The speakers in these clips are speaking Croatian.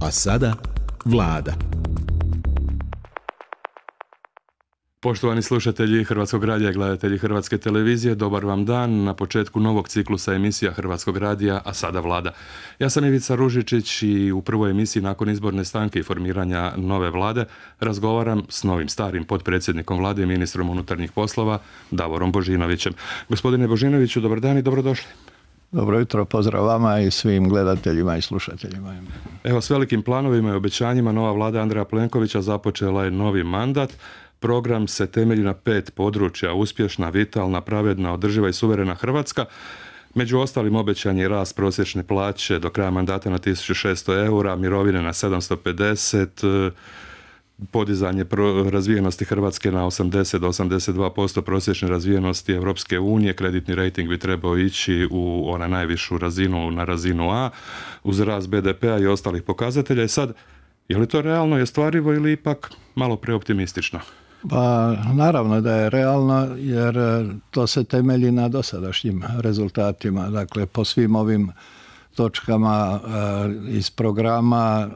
A sada Vlada. Poštovani slušatelji Hrvatskog radija i gledatelji Hrvatske televizije, dobar vam dan na početku novog ciklusa emisija Hrvatskog radija, a sada Vlada. Ja sam Ivica Ružičić i u prvoj emisiji nakon izborne stanke i formiranja nove Vlade razgovaram s novim starim potpredsjednikom Vlade i ministrom unutarnjih poslova Davorom Božinovićem. Gospodine Božinoviću, dobar dan i dobrodošli. Dobro jutro, pozdrav vama i svim gledateljima i slušateljima. Evo, s velikim planovima i obećanjima nova Vlada Andreja Plenkovića započela je novi mandat. Program se temelji na 5 područja: uspješna, vitalna, pravedna, održiva i suverena Hrvatska. Među ostalim obećan je rast prosječne plaće do kraja mandata na 1600 eura, mirovine na 750, podizanje razvijenosti Hrvatske na 80 do 82% prosječne razvijenosti Europske unije. Kreditni rejting bi trebao ići u ona najvišu razinu, na razinu A, uz rast BDP-a i ostalih pokazatelja. I sad, je li to realno i ostvarivo ili ipak malo preoptimistično? Pa naravno da je realno, jer to se temelji na dosadašnjim rezultatima. Dakle, po svim ovim točkama iz programa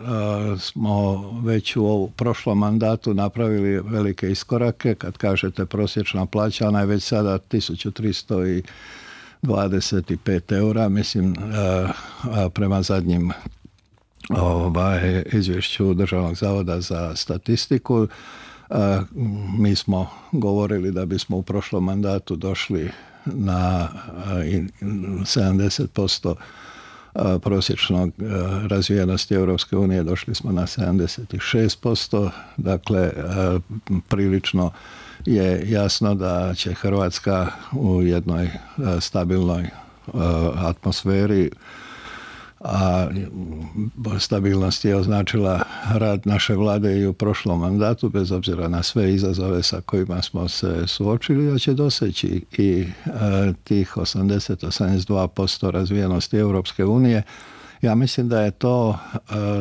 smo već u prošlom mandatu napravili velike iskorake. Kad kažete prosječna plaća, ona je već sada 1325 eura, mislim, prema zadnjim izvješću Državnog zavoda za statistiku. Mi smo govorili da bismo u prošlom mandatu došli na 70% prosječnog razvijenosti Europske unije, došli smo na 76%, dakle prilično je jasno da će Hrvatska u jednoj stabilnoj atmosferi, a stabilnost je označila rad naše vlade i u prošlom mandatu, bez obzira na sve izazove sa kojima smo se suočili, da će doseći i tih 80-82% razvijenosti Europske unije. Ja mislim da je to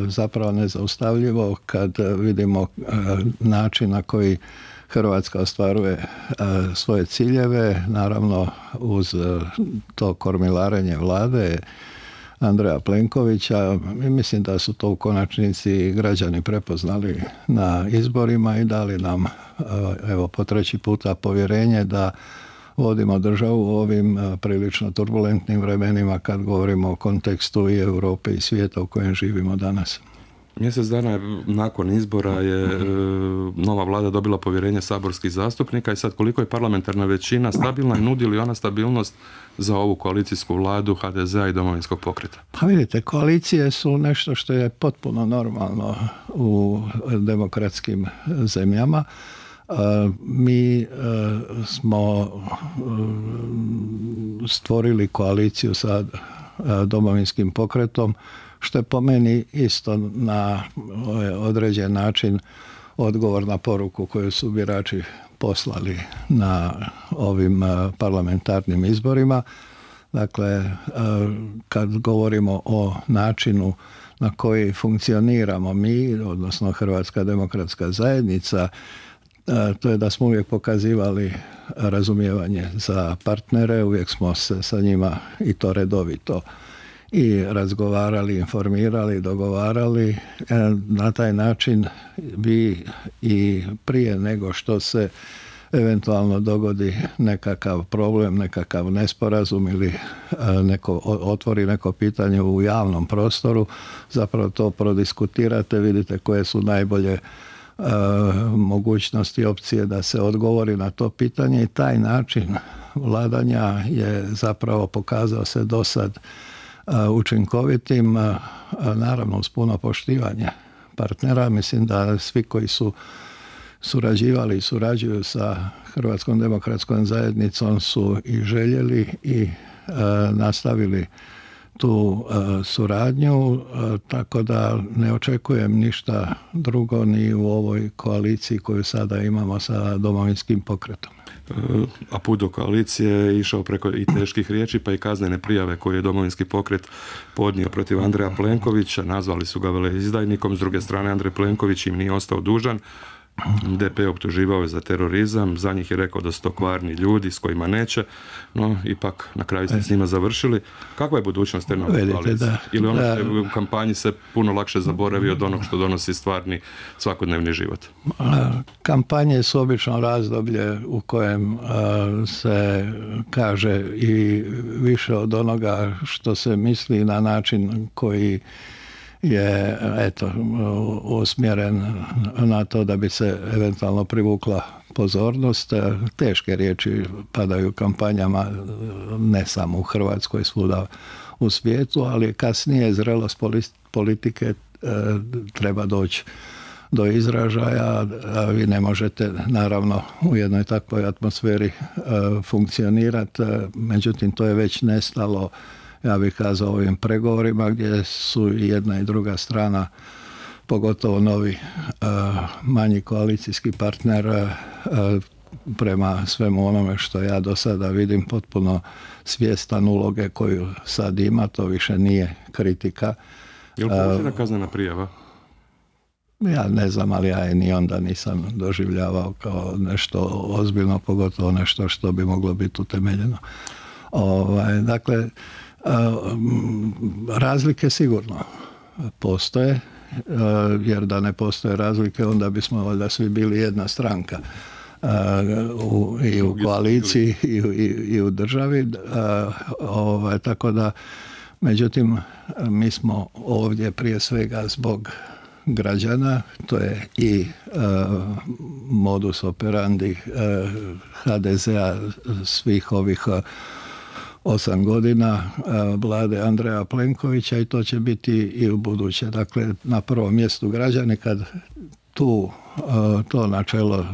zapravo nezaustavljivo kad vidimo način na koji Hrvatska ostvaruje svoje ciljeve, naravno uz to kormilarenje vlade Andreja Plenkovića. Mislim da su to u konačnici građani prepoznali na izborima i dali nam, evo, po treći puta povjerenje da vodimo državu u ovim prilično turbulentnim vremenima kad govorimo o kontekstu i Europe i svijeta u kojem živimo danas. Mjesec dana nakon izbora je nova vlada dobila povjerenje saborskih zastupnika i sad koliko je parlamentarna većina stabilna i nudi li ona stabilnost za ovu koalicijsku vladu HDZ-a i Domovinskog pokreta? Pa vidite, koalicije su nešto što je potpuno normalno u demokratskim zemljama. Mi smo stvorili koaliciju sa Domovinskim pokretom, što je po meni isto na određen način odgovor na poruku koju su birači poslali na ovim parlamentarnim izborima. Dakle, kad govorimo o načinu na koji funkcioniramo mi, odnosno Hrvatska demokratska zajednica, to je da smo uvijek pokazivali razumijevanje za partnere, uvijek smo se sa njima i to redovito i razgovarali, informirali, dogovarali. Na taj način bi i prije nego što se eventualno dogodi nekakav problem, nekakav nesporazum ili otvori neko pitanje u javnom prostoru, zapravo to prodiskutirate, vidite koje su najbolje mogućnosti i opcije da se odgovori na to pitanje i taj način vladanja je zapravo pokazao se dosad učinkovitim, naravno uz puno poštivanje partnera. Mislim da svi koji su surađivali i surađuju sa Hrvatskom demokratskom zajednicom su i željeli i nastavili tu suradnju, tako da ne očekujem ništa drugo ni u ovoj koaliciji koju sada imamo sa Domovinskim pokretom. A put do koalicije je išao preko i teških riječi, pa i kaznene prijave koje je Domovinski pokret podnio protiv Andreja Plenkovića. Nazvali su ga veleizdajnikom. S druge strane, Andrej Plenković im nije ostao dužan. DP optuživao je za terorizam, za njih je rekao da su to kvarni ljudi s kojima neće, no ipak na kraju ste s njima završili. Kakva je budućnost te nove koalicije? Ili ono što je u kampanji se puno lakše zaboravi od onog što donosi stvarni svakodnevni život? Kampanje su obično razdoblje u kojem se kaže i više od onoga što se misli na način koji je usmjeren na to da bi se eventualno privukla pozornost. Teške riječi padaju kampanjama ne samo u Hrvatskoj, svuda u svijetu, ali kasnije zrelost politike treba doći do izražaja. Vi ne možete naravno u jednoj takvoj atmosferi funkcionirati, međutim to je već nestalo, ja bih kazao, ovim pregovorima gdje su i jedna i druga strana, pogotovo novi manji koalicijski partner, prema svemu onome što ja do sada vidim, potpuno svjestan uloge koju sad ima. To više nije kritika. Je li povučena kaznena prijava? Ja ne znam, ali ja je ni onda nisam doživljavao kao nešto ozbiljno, pogotovo nešto što bi moglo biti utemeljeno. Dakle, razlike sigurno postoje, jer da ne postoje razlike onda bismo valjda svi bili jedna stranka i u koaliciji i u državi, tako da, međutim, mi smo ovdje prije svega zbog građana, to je i modus operandi HDZ-a svih ovih 8 godina vlade Andreja Plenkovića, i to će biti i u buduće. Dakle, na prvom mjestu građani. Kad to načelo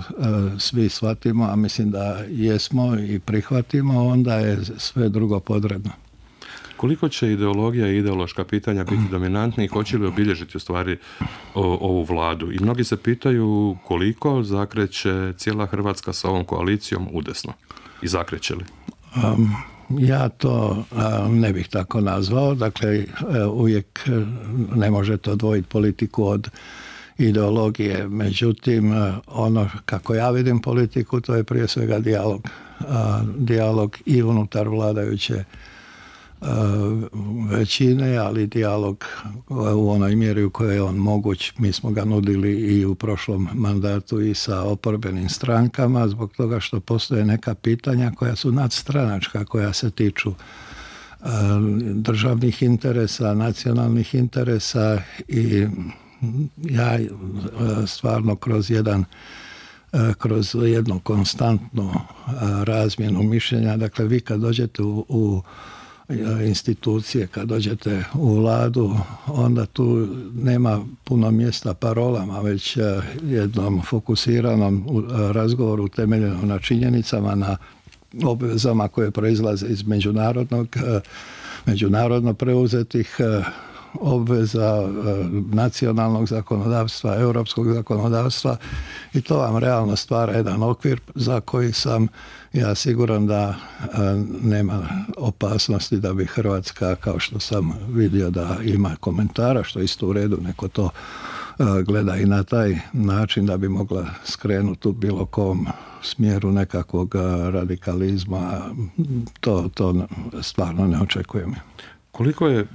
svi shvatimo, a mislim da jesmo i prihvatimo, onda je sve drugo podredno. Koliko će ideologija i ideološka pitanja biti dominantni i hoće li obilježiti u stvari ovu vladu? I mnogi se pitaju koliko zakreće cijela Hrvatska sa ovom koalicijom udesno. I zakreće li? Ja to ne bih tako nazvao. Dakle, uvijek ne možete odvojiti politiku od ideologije. Međutim, ono kako ja vidim politiku, to je prije svega dijalog. Dijalog i unutar vladajuće većine, ali dijalog u onoj mjeri u kojoj je on moguć. Mi smo ga nudili i u prošlom mandatu i sa oporbenim strankama, zbog toga što postoje neka pitanja koja su nadstranačka, koja se tiču državnih interesa, nacionalnih interesa, i ja stvarno kroz jednu konstantnu razmjenu mišljenja, dakle vi kad dođete u institucije, kad dođete u vladu, onda tu nema puno mjesta parolama, već jednom fokusiranom razgovoru temeljenom na činjenicama, na obvezama koje proizlaze iz međunarodno preuzetih obveza, nacionalnog zakonodavstva, europskog zakonodavstva, i to vam realno stvara jedan okvir za koji sam ja siguran da nema opasnosti da bi Hrvatska, kao što sam vidio da ima komentara, što je isto u redu, neko to gleda i na taj način, da bi mogla skrenuti u bilo kom smjeru nekakvog radikalizma. To stvarno ne očekujem. Koliko je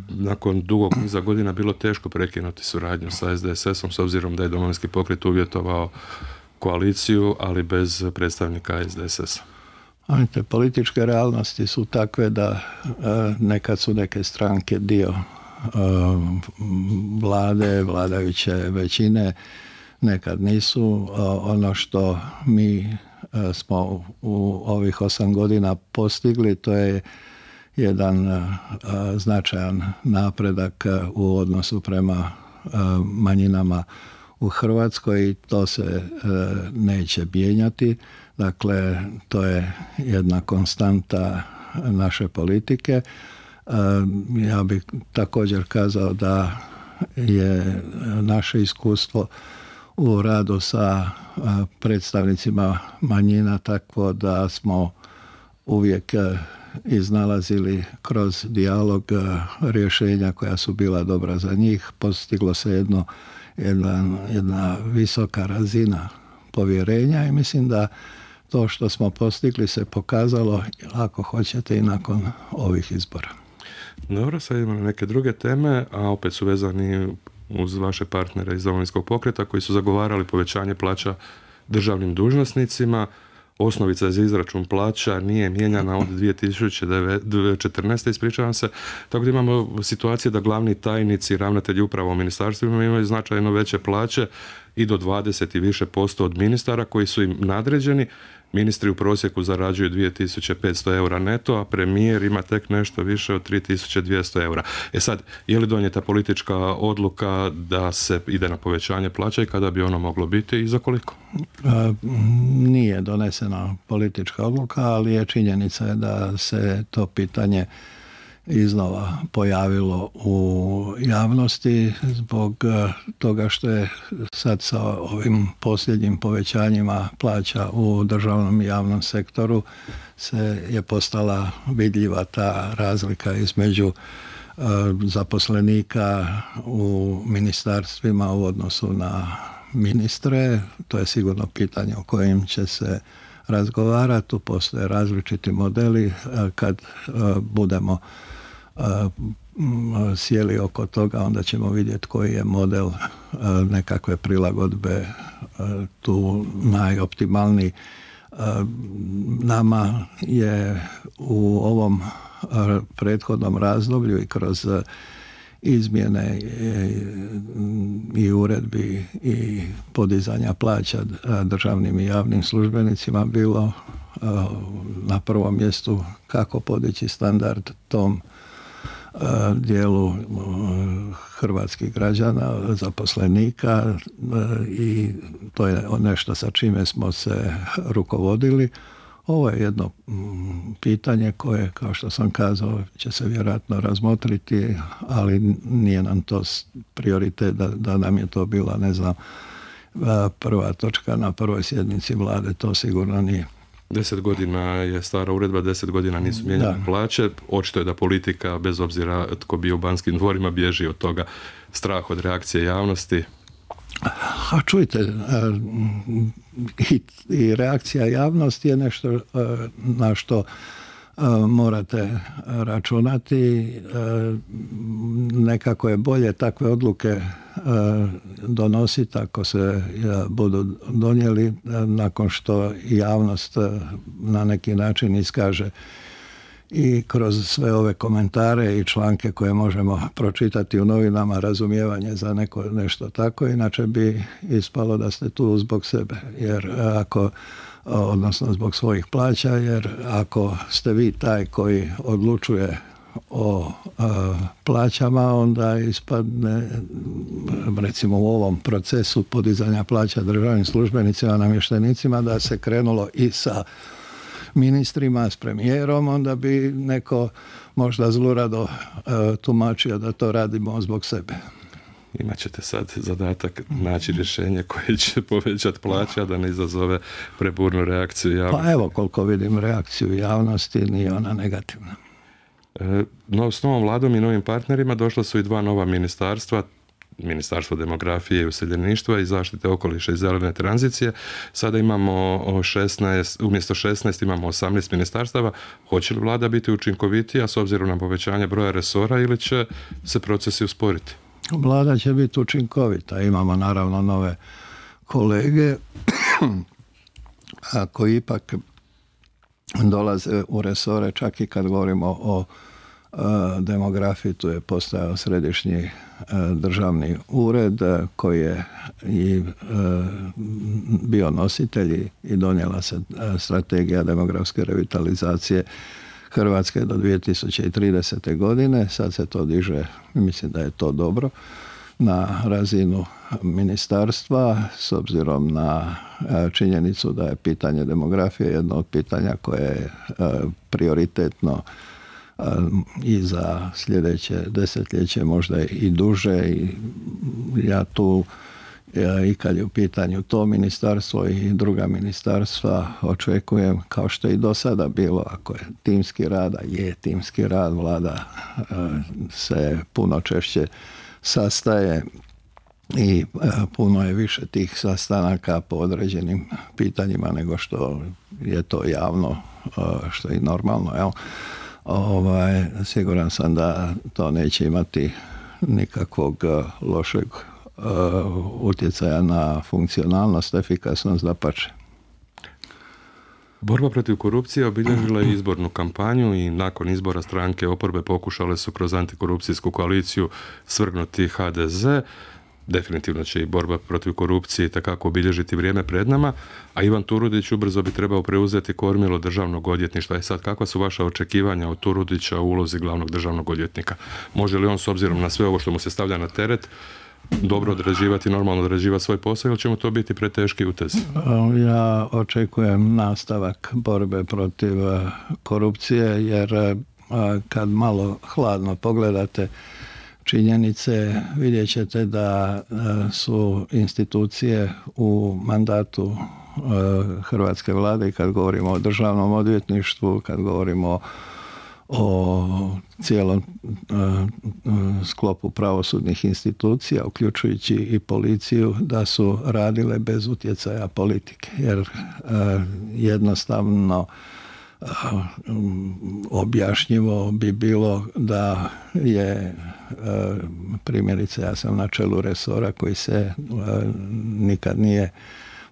nakon dugog niza godina bilo teško prekinuti suradnju sa SDSS-om, s obzirom da je Domovinski pokret uvjetovao koaliciju, ali bez predstavnika SDSS-a? Političke realnosti su takve da nekad su neke stranke dio vlade, vladajuće većine, nekad nisu. Ono što mi smo u ovih 8 godina postigli, to je jedan značajan napredak u odnosu prema manjinama u Hrvatskoj, i to se neće mijenjati. Dakle, to je jedna konstanta naše politike. Ja bih također kazao da je naše iskustvo u radu sa predstavnicima manjina takvo da smo uvijek iznalazili kroz dijalog rješenja koja su bila dobra za njih. Postiglo se jedno jedna visoka razina povjerenja i mislim da to što smo postigli se pokazalo, ako hoćete, i nakon ovih izbora. Dobro, sad idemo na neke druge teme, a opet su vezani uz vaše partnere iz Domovinskog pokreta koji su zagovarali povećanje plaća državnim dužnosnicima. Osnovica za izračun plaća nije mijenjana od 2014. ispričavam se, tako da imamo situacije da glavni tajnici i ravnatelji uprava u ministarstvima imaju značajno veće plaće i do 20 i više % od ministara koji su im nadređeni. Ministri u prosjeku zarađuju 2500 eura neto, a premijer ima tek nešto više od 3200 eura. Sad, je li donijeta politička odluka da se ide na povećanje plaća i kada bi ono moglo biti i za koliko? Nije donesena politička odluka, ali je činjenica da se to pitanje iznova pojavilo u javnosti zbog toga što je sad sa ovim posljednjim povećanjima plaća u državnom i javnom sektoru se je postala vidljiva ta razlika između zaposlenika u ministarstvima u odnosu na ministre. To je sigurno pitanje o kojem će se razgovarati. Tu postoje različiti modeli. Kad budemo sjeli oko toga, onda ćemo vidjeti koji je model nekakve prilagodbe tu najoptimalniji. Nama je u ovom prethodnom razdoblju i kroz izmjene i uredbi i podizanja plaća državnim i javnim službenicima bilo na prvom mjestu kako podići standard tom dijelu hrvatskih građana, zaposlenika, i to je nešto sa čime smo se rukovodili. Ovo je jedno pitanje koje, kao što sam kazao, će se vjerojatno razmotriti, ali nije nam to prioritet da nam je to bila, ne znam, prva točka na prvoj sjednici vlade, to sigurno nije. 10 godina je stara uredba, 10 godina nisu mijenjane plaće. Očito je da politika, bez obzira tko bio u Banskim dvorima, bježi od toga, strah od reakcije javnosti. A čujte, i reakcija javnosti je nešto na što morate računati. Nekako je bolje takve odluke donositi ako se budu donijeli nakon što javnost na neki način iskaže i kroz sve ove komentare i članke koje možemo pročitati u novinama razumijevanje za nešto tako, inače bi ispalo da ste tu zbog sebe, jer odnosno zbog svojih plaća, jer ako ste vi taj koji odlučuje o plaćama, onda ispadne, recimo u ovom procesu podizanja plaća državnim službenicima, namještenicima, da se krenulo i sa ministrima, s premijerom, onda bi neko možda zlurado tumačio da to radimo zbog sebe. Imat ćete sad zadatak naći rješenje koje će povećati plaća da ne izazove preburnu reakciju javnosti. Pa evo, koliko vidim reakciju javnosti, nije ona negativna. No, s novom vladom i novim partnerima došla su i 2 nova ministarstva, Ministarstvo demografije i useljeništva i zaštite okoliša i zelene tranzicije. Sada imamo 16, umjesto 16 imamo 18 ministarstava. Hoće li vlada biti učinkovitija s obzirom na povećanje broja resora ili će se procesi usporiti? Vlada će biti učinkovita. Imamo naravno nove kolege koji ipak dolaze u resore, čak i kad govorimo o demografiji. Tu je postojao središnji državni ured koji je i bio nositelj i donijela se strategija demografske revitalizacije Hrvatske do 2030. godine. Sad se to diže, mislim da je to dobro, na razinu ministarstva, s obzirom na činjenicu da je pitanje demografije jedno od pitanja koje je prioritetno i za sljedeće desetljeće, možda i duže. I ja tu, i kad je u pitanju to ministarstvo i druga ministarstva, očekujem, kao što je i do sada bilo, ako je timski rad, a je timski rad, vlada se puno češće sastaje i puno je više tih sastanaka po određenim pitanjima nego što je to javno, što je normalno. Jel? Siguran sam da to neće imati nikakvog lošeg utjecaja na funkcionalnost, efikasnost, dapače. Borba protiv korupcije obilježila je izbornu kampanju i nakon izbora stranke oporbe pokušale su kroz antikorupcijsku koaliciju svrgnuti HDZ. Definitivno će i borba protiv korupcije takako obilježiti vrijeme pred nama, a Ivan Turudić ubrzo bi trebao preuzeti kormilo državnog odvjetništva. I sad, kakva su vaša očekivanja od Turudića u ulozi glavnog državnog odvjetnika? Može li on, s obzirom na sve ovo što mu se stavlja na teret, dobro odrađivati, normalno odrađivati svoj posao, ili će mu to biti preteški utez? Ja očekujem nastavak borbe protiv korupcije, jer kad malo hladno pogledate činjenice, vidjet ćete da su institucije u mandatu hrvatske vlade, kad govorimo o državnom odvjetništvu, kad govorimo o cijelom sklopu pravosudnih institucija, uključujući i policiju, da su radile bez utjecaja politike. Jer jednostavno objašnjivo bi bilo da je, primjerice, ja sam na čelu resora koji se nikad nije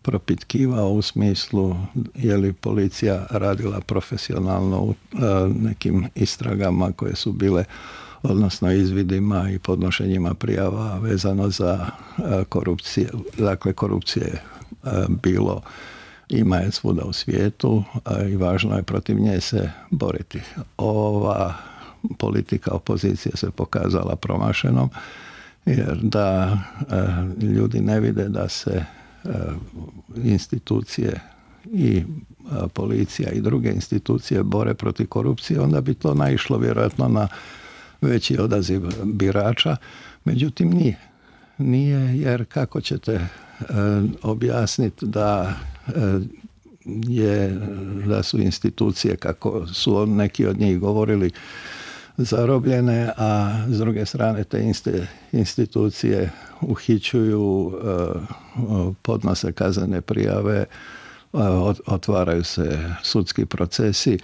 propitkivao u smislu je li policija radila profesionalno u nekim istragama koje su bile, odnosno izvidima i podnošenjima prijava vezano za korupcije. Dakle, korupcije je bilo, ima je svuda u svijetu i važno je protiv nje se boriti. Ova politika opozicije se pokazala promašenom, jer da ljudi ne vide da se institucije i policija i druge institucije bore protiv korupcije, onda bi to naišlo vjerojatno na veći odaziv birača. Međutim, nije. Nije, jer kako ćete objasniti da su institucije, kako su neki od njih govorili, zarobljene, a s druge strane te institucije uhićuju, podnose kaznene prijave, otvaraju se sudski procesi.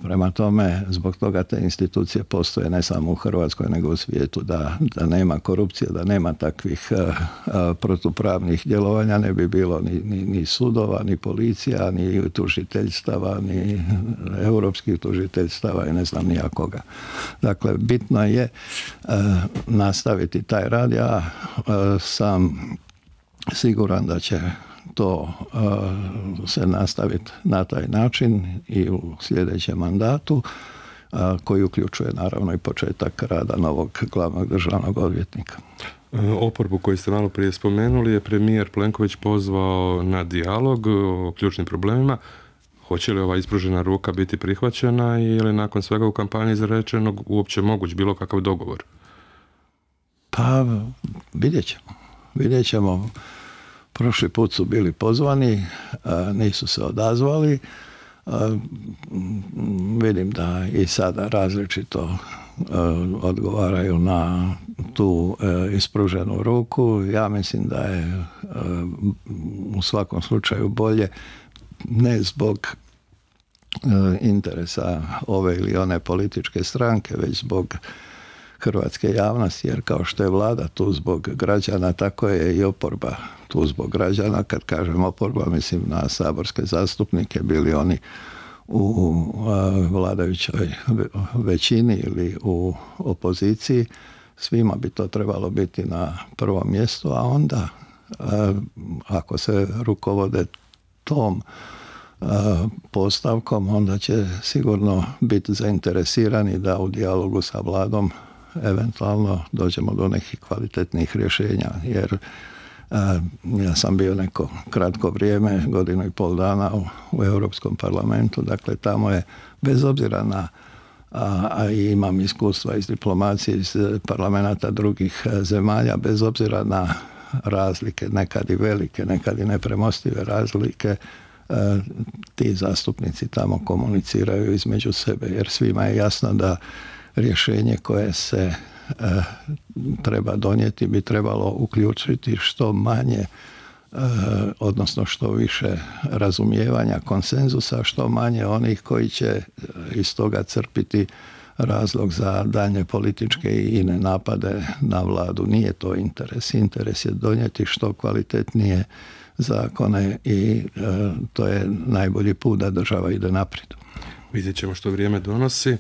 Prema tome, zbog toga te institucije postoje ne samo u Hrvatskoj nego u svijetu. Da nema korupcije, da nema takvih protupravnih djelovanja, ne bi bilo ni sudova, ni policija, ni tužiteljstava, ni europskih tužiteljstava i ne znam ni koga. Dakle, bitno je nastaviti taj rad. Ja sam siguran da će to se nastaviti na taj način i u sljedećem mandatu, koji uključuje naravno i početak rada novog glavnog državnog odvjetnika. Oporbu koju ste malo prije spomenuli je premijer Plenković pozvao na dijalog o ključnim problemima. Hoće li ova ispružena ruka biti prihvaćena ili nakon svega u kampanji izrečenog uopće moguć bilo kakav dogovor? Pa vidjet ćemo. Prošli put su bili pozvani, nisu se odazvali. Vidim da i sada različito odgovaraju na tu ispruženu ruku. Ja mislim da je u svakom slučaju bolje, ne zbog interesa ove ili one političke stranke, već zbog hrvatske javnosti, jer kao što je vlada tu zbog građana, tako je i oporba tu zbog građana. Kad kažem oporba, mislim na saborske zastupnike, bili oni u vladajućoj većini ili u opoziciji. Svima bi to trebalo biti na prvom mjestu, a onda ako se rukovode tom postavkom, onda će sigurno biti zainteresirani da u dijalogu sa vladom eventualno dođemo do nekih kvalitetnih rješenja, jer ja sam bio neko kratko vrijeme, 1,5 dana u Europskom parlamentu, dakle tamo je, bez obzira na, a imam iskustva iz diplomacije, iz parlamenta drugih zemalja, bez obzira na razlike, nekad i velike, nekad i nepremostive razlike, ti zastupnici tamo komuniciraju između sebe, jer svima je jasno da rješenje koje se treba donijeti, bi trebalo uključiti što manje, odnosno što više razumijevanja, konsenzusa, što manje onih koji će iz toga crpiti razlog za daljnje političke i ine napade na vladu. Nije to interes. Interes je donijeti što kvalitetnije zakone i to je najbolji put da država ide naprijed. Vidjet ćemo što vrijeme donosi.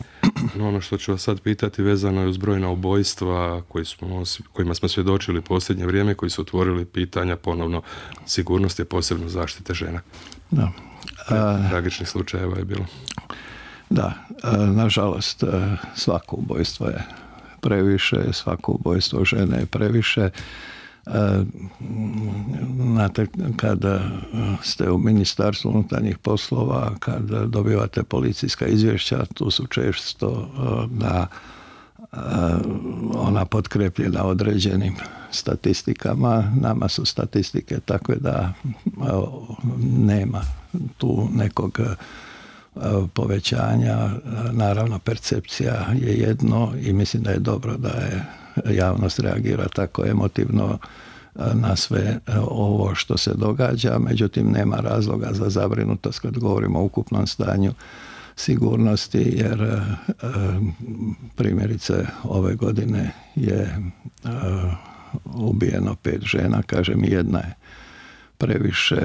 No, ono što ću vas sad pitati vezano je uz brojna ubojstva kojima smo svjedočili posljednje vrijeme, koji su otvorili pitanja ponovno sigurnosti, posebno zaštite žena. Da. Tragičnih slučajeva je bilo. Da, nažalost svako ubojstvo je previše, svako ubojstvo žene je previše. Znate, kada ste u Ministarstvu unutarnjih poslova, kada dobivate policijska izvješća, tu su često ona potkrepljena određenim statistikama. Nama su statistike takve da nema tu nekog povećanja. Naravno, percepcija je jedno i mislim da je dobro da je javnost reagira tako emotivno na sve ovo što se događa, međutim nema razloga za zabrinutost kad govorimo o ukupnom stanju sigurnosti, jer primjerice ove godine je ubijeno 5 žena, kažem, jedna je previše,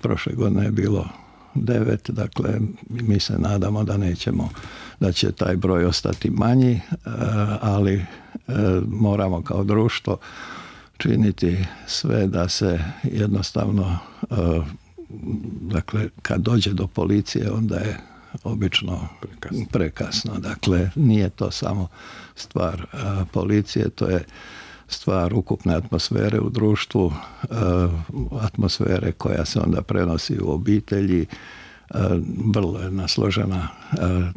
prošle godine je bilo 9, dakle mi se nadamo da će taj broj ostati manji, ali moramo kao društvo činiti sve da se jednostavno, dakle kad dođe do policije onda je obično prekasno. Dakle, nije to samo stvar policije, to je stvar ukupne atmosfere u društvu, atmosfere koja se onda prenosi u obitelji. Vrlo jedna složena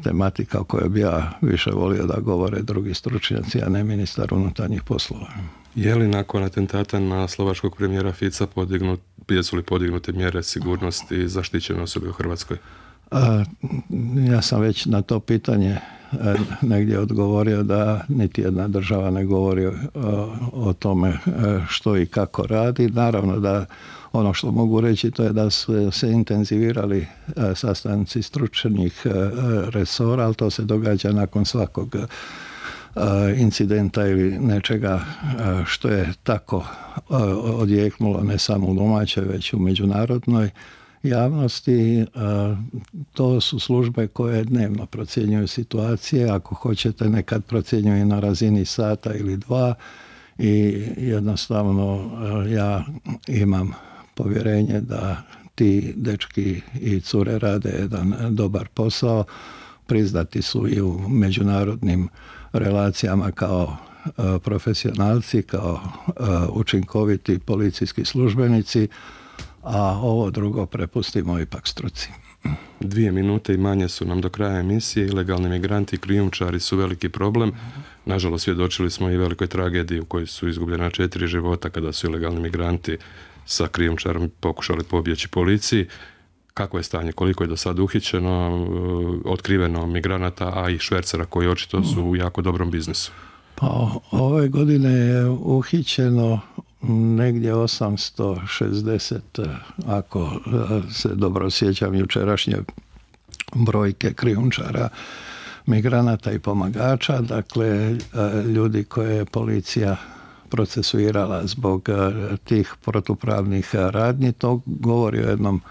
tematika o kojoj bi ja više volio da govore drugi stručnjaci, a ne ministar unutarnjih poslova. Je li nakon atentata na slovačkog premijera Fica jesu li podignute mjere sigurnosti i zaštićene osobe u Hrvatskoj? Ja sam već na to pitanje negdje odgovorio da niti jedna država ne govori o tome što i kako radi. Naravno da ono što mogu reći to je da su se intenzivirali sastanci stručnih resora, ali to se događa nakon svakog incidenta ili nečega što je tako odjeknulo ne samo u domaćoj, već u međunarodnoj javnosti. To su službe koje dnevno procjenjuju situacije, ako hoćete nekad procjenjuju na razini sata ili 2 i jednostavno ja imam povjerenje da ti dečki i cure rade jedan dobar posao, priznati su i u međunarodnim relacijama kao profesionalci, kao učinkoviti policijski službenici, a ovo drugo prepustimo ipak struci. 2 minute i manje su nam do kraja emisije. Ilegalni migranti i krijumčari su veliki problem. Nažalost, svjedočili smo i velikoj tragediji u kojoj su izgubljena 4 života kada su ilegalni migranti sa krijumčarom pokušali pobjeći policiji. Kako je stanje? Koliko je do sada uhićeno, otkriveno migranata, a i švercera koji očito su u jako dobrom biznisu? Pa ove godine je uhićeno negdje 860, ako se dobro sjećam jučerašnje brojke, krijumčara, migranata i pomagača, dakle ljudi koje je policija procesuirala zbog tih protupravnih radnji. To govori o jednom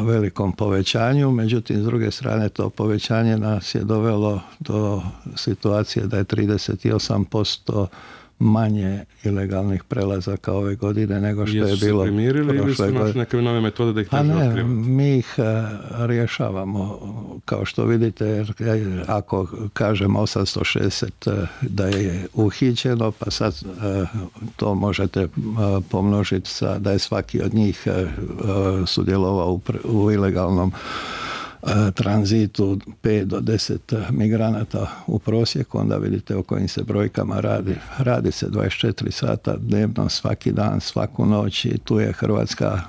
velikom povećanju, međutim s druge strane to povećanje nas je dovelo do situacije da je 38% manje ilegalnih prelazaka ove godine nego što je bilo primirili ili su našli neke nove metode da ih teže otkrivati? Mi ih rješavamo, kao što vidite, jer ako kažemo 860 da je uhićeno, pa sad to možete pomnožiti sa da je svaki od njih sudjelovao u ilegalnom tranzitu 5 do 10 migranata u prosjeku, onda vidite o kojim se brojkama radi. Radi se 24 sata dnevno, svaki dan, svaku noć i tu je Hrvatska,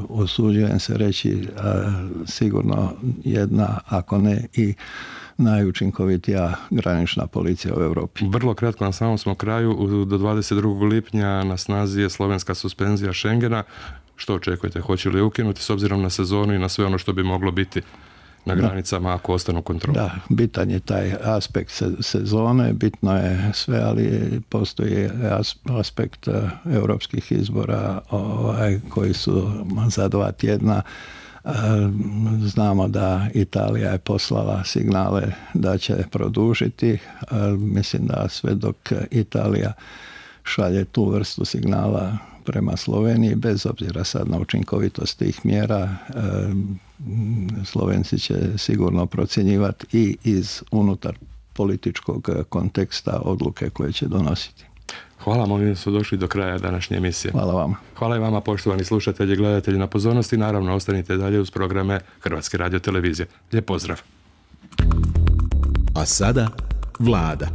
usuđujem se reći, sigurno jedna, ako ne i najučinkovitija granična policija u Europi. Vrlo kratko, na samom smo kraju, do 22. lipnja na snazi je slovenska suspenzija Schengena. Što očekujete? Hoće li ukinuti s obzirom na sezonu i na sve ono što bi moglo biti na granicama ako ostanu kontrole? Da, bitan je taj aspekt sezone, bitno je sve, ali postoji aspekt europskih izbora koji su za 2 tjedna. Znamo da Italija je poslala signale da će produžiti. Mislim da sve dok Italija šalje tu vrstu signala prema Sloveniji, bez obzira sad na učinkovitost tih mjera, Slovenci će sigurno procjenjivati i iz unutar političkog konteksta odluke koje će donositi. Hvala vam, ovdje su došli do kraja današnje emisije. Hvala vama. Hvala i vama, poštovani slušatelji i gledatelji, na pozornosti. Naravno, ostanite dalje uz programe Hrvatske radiotelevizije. Lijep pozdrav. A sada Vlada.